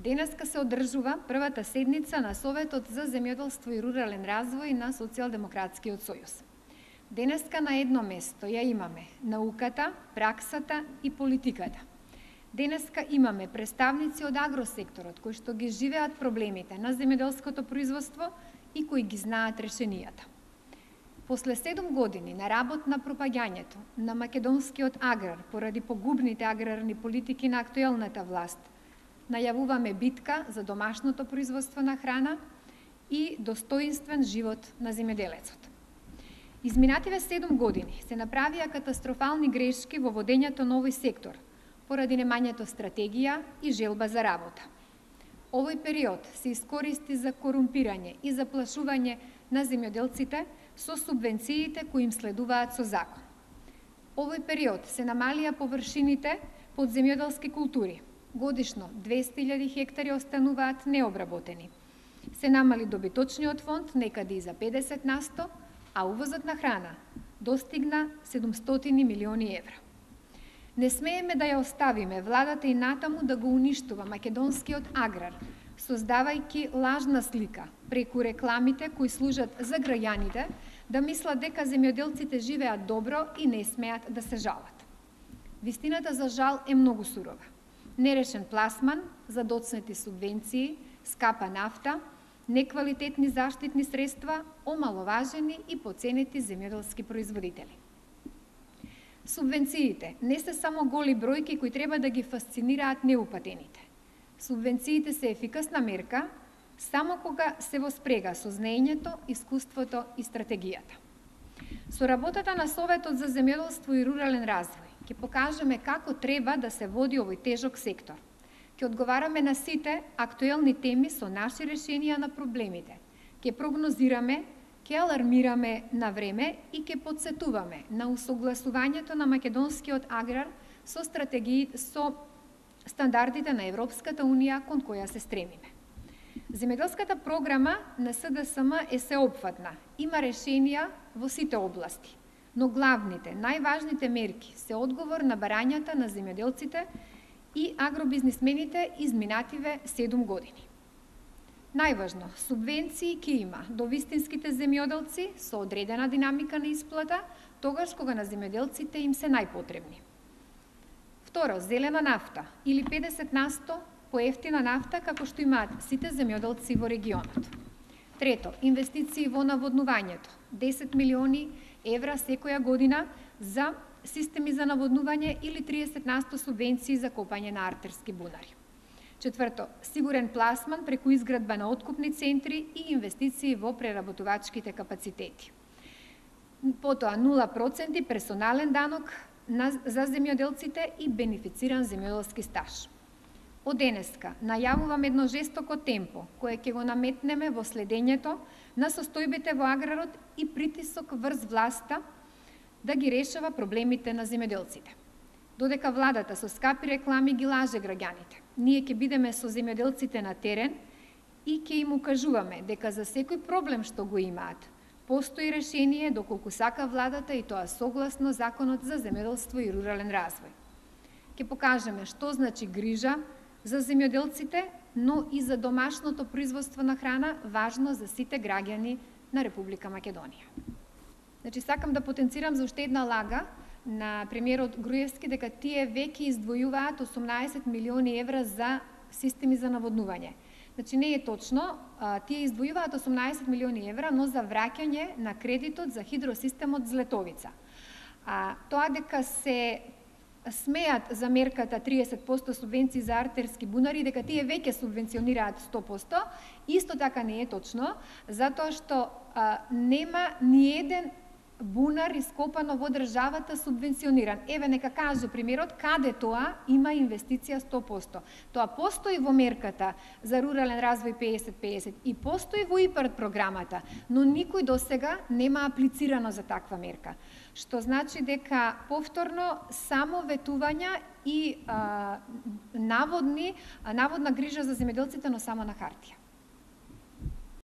Денеска се одржува првата седница на Советот за земјоделство и рурален развој на Социјалдемократскиот сојуз. Денеска на едно место ја имаме науката, праксата и политиката. Денеска имаме представници од агросекторот кои што ги живеат проблемите на земјоделското производство и кои ги знаат решенијата. После 7 години на работ на пропагањето на македонскиот аграр поради погубните аграрни политики на актуелната власт, најавуваме битка за домашното производство на храна и достоинствен живот на земјоделецот. Изминативе 7 години се направија катастрофални грешки во водењето на овој сектор, поради немањето стратегија и желба за работа. Овој период се искористи за корумпирање и заплашување на земјоделците со субвенциите кои им следуваат со закон. Овој период се намалија површините под земјоделски култури. Годишно 200.000 хектари остануваат необработени. Се намали добиточниот фонд некаде и за 50%, а увозот на храна достигна 700 милиони евра. Не смееме да ја оставиме владата и натаму да го уништува македонскиот аграр, создавајќи лажна слика преку рекламите кои служат за граѓаните да мислат дека земјоделците живеат добро и не смеат да се жалат. Вистината за жал е многу сурова. Нерешен пласман, задоцнети субвенции, скапа нафта, неквалитетни заштитни средства, омаловажени и поценети земјоделски производители. Субвенциите не се само голи бројки кои треба да ги фасцинираат неупатените. Субвенциите се ефикасна мерка само кога се во спрега со знаењето, искуството и стратегијата. Со работата на Советот за земјоделство и рурален развој ќе покажеме како треба да се води овој тежок сектор. Ќе одговараме на сите актуелни теми со наши решенија на проблемите. Ќе прогнозираме, ќе алармираме на време и ќе подсетуваме на усогласувањето на македонскиот аграр со стандардите на Европската унија кон која се стремиме. Земјоделската програма на СДСМ е сеопфатна, има решенија во сите области, но главните, најважните мерки се одговор на барањата на земјоделците и агробизнисмените изминативе 7 години. Најважно, субвенции ќе има до вистинските земјоделци со одредена динамика на исплата, тогаш кога на земјоделците им се најпотребни. Второ, зелена нафта или 50% поевтина нафта како што имаат сите земјоделци во регионот. Трето, инвестиции во наводнувањето, 10 милиони евра секоја година за системи за наводнување или 30% субвенции за копање на артерски бунари. Четврто, сигурен пласман преку изградба на откупни центри и инвестиции во преработувачките капацитети. Потоа 0% персонален данок за земјоделците и бенефициран земјоделски стаж. Од денеска најавувам едно жестоко темпо кое ќе го наметнеме во следењето на состојбите во аграрот и притисок врз власта да ги решава проблемите на земјоделците. Додека владата со скапи реклами ги лаже граѓаните, ние ќе бидеме со земјоделците на терен и ќе им укажуваме дека за секој проблем што го имаат, постои решение доколку сака владата и тоа согласно Законот за земјоделство и рурален развој. Ќе покажеме што значи грижа за земјоделците, но и за домашното производство на храна, важно за сите граѓани на Република Македонија. Значи, сакам да потенцирам за уште една лага на премиерот Груевски дека тие веќе издвојуваат 18 милиони евра за системи за наводнување. Значи, не е точно, тие издвојуваат 18 милиони евра, но за враќање на кредитот за хидросистемот Злетовица. Тоа дека се смеат за мерката 30% субвенции за артерски бунари, дека тие веќе субвенционираат 100%, исто така не е точно, затоа што нема ни еден бунар ископано во државата субвенциониран. Еве, нека каже премиерот каде тоа има инвестиција 100%. Тоа постои во мерката за рурален развој 50-50 и постои во ИПАРД програмата, но никој досега нема аплицирано за таква мерка. Што значи дека повторно само ветувања и наводна грижа за земјоделците, но само на хартија.